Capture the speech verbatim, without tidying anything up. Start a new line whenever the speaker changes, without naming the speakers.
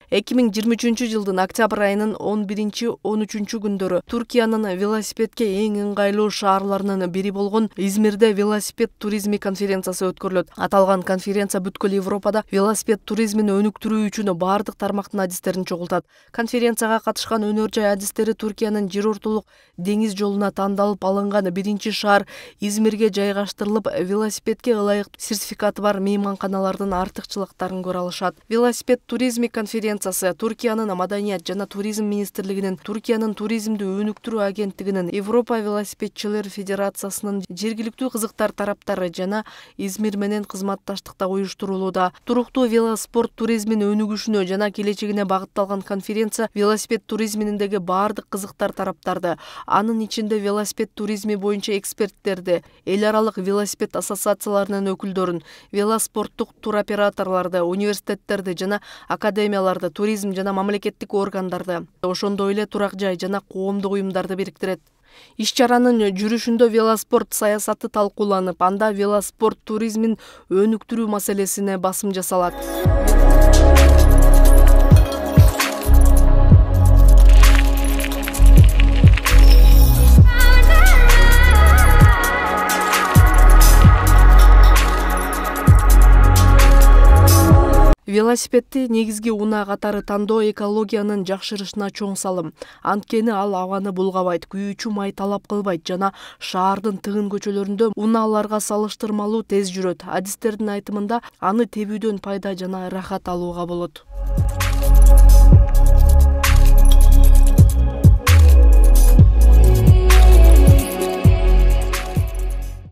эки миң жыйырма үчүнчү жылдын октябрь айынын он биринчи он үчүнчү күндөрү Түркиянын велосипедке эң ыңгайлуу шаарларынын бири болгон Измирде велосипед туризми конференциясы өткөрүлөт. Аталган конференция бүткүл Европада велосипед туризмин өнүктүрүү үчүн бардык тармактын адистерин чогултат. Конференцияга катышкан өнөр жай адистери Түркиянын жер ортолук деңиз жолуна тандалып алынган биринчи шаар Измирге жайгаштырылып, велосипедке ылайык сертификаты бар мейманканалардын артыкчылыктарын көрө алышат. Велосипед туризми конференциясы Түркиянын Маданият жана туризм министрлигинин, Түркиянын туризмди өнүктүрүү агенттигинин, Европа велосипедчилер федерациясынын, жергиликтүү кызыктар тараптары жана Измир менен кызматташтыкта уюштурулууда. Туруктуу велоспорт туризмин өнүгүшүнө жана келечегине багытталган конференция велосипед туризминдеги бардык кызыктар тараптарды, анын ичинде велосипед туризми боюнча эксперттерди, эл аралык велосипед ассоциацияларынын өкүлдөрүн, велоспорттук туроператорлорду, университеттерди жана академияларды, туризм жана мамлекеттик органдарды, ошондой эле турак жай жана коомдук уюмдарды бириктирет. Иш-чаранын жүрүшүндө велоспорт саясаты талкууланып, анда велоспорт туризмин өнүктүрүү маселесине басым жасалат. Велосипедди негизги унаа катары тандоо экологиянын жакшырышына чоң салым. Анткени ал абаны булгабайт, күйүүчү май талап кылбайт жана шаардын тыгын көчөлөрүндө унааларга салыштырмалуу тез жүрөт. Адистердин айтымында, аны тебүүдөн пайда жана ырахат алууга болот.